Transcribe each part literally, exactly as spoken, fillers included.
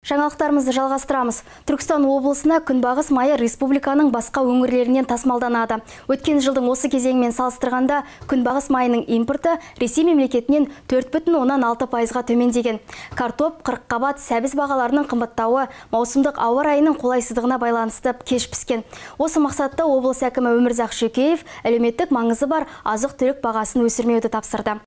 Жаңалықтарымызды жалғастырамыз. Түркістан облысына күнбағыс майы республиканың басқа өңірлерінен тасымалданады. Өткен жылдың осы кезеңімен салыстырғанда күнбағыс майының импорты Ресей мемлекетінен төрт бүтін оннан алты пайызға төмендеген. Картоп, қырыққабат, сәбіз бағаларының қымбаттауы маусымдық ауа райының қолайсыздығына байланысты кеш піскен. Осы мақсатта облыс әкімі Өмірзақ Шөкеев әлеуметтік маңызы бар азық-түлік бағасын өсірмеуді тапсырды.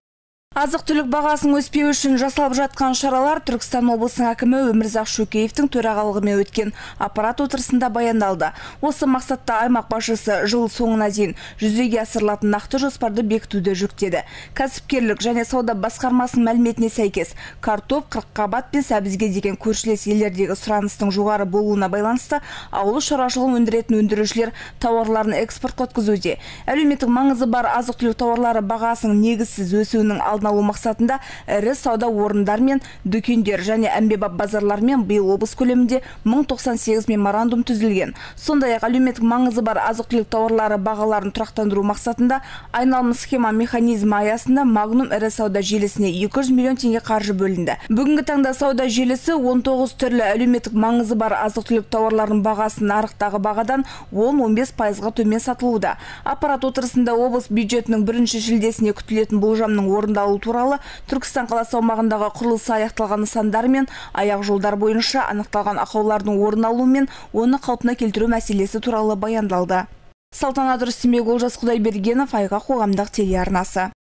Азық-түлік бағасын өспеу үшін жасалып жатқан шаралар Түркістан облысының әкімі Өмірзақ Шөкеевтің төрағалығымен өткен аппарат отырысында баяндалды. Осы мақсатта аймақ басшысы жыл соңына дейін жүзеге асырылатын нақты жоспарды бекітуді жүктеді. Кәсіпкерлік және сауда басқармасының мәліметіне сәйкес, картоп, қырыққабат пен сәбізге деген көршілес елдердегі сұраныстың жоғары болуына байланысты ауыл шаруашылығын өндіретін өндірушілер тауарларын экспортқа өткізуде. Әлеуметтік маңызы бар азық-түлік тауарлары бағасының негізсіз өсуінің алдын алу мақсатында ірі сауда орындар мен дүкендер және әмбебап базарлармен биыл облыс көлемінде мың тоқсан сегіз меморандум түзілген. Сондай-ақ әлеуметтік маңызы бар азық-түлік тауарлары бағаларын тұрақтандыру мақсатында айналым схема механизмі аясында Магнум ірі сауда желісіне екі жүз миллион теңге қаржы бөлінді. Бүгінгі таңда сауда желісі он тоғыз түрлі әлеуметтік маңызы бар азық-түлік тауарлардың бағасын нарықтағы бағадан он он бес пайызға төмен сатылуда. Аппарат отырысында облыс бюджетінің бірінші шілдесіне күтілетін болжамның орындалуы туралы Түркістан қаласы аумағындағы құрылысы аяқталған нысандар мен аяқ жолдар бойынша анықталған ақаулардың орын алуы мен оны қалпына келтіру мәселесі туралы баяндалды. Салтанат Рүстембек, Олжас Құдайбергенов, Айға қоғамдық телеарнасы.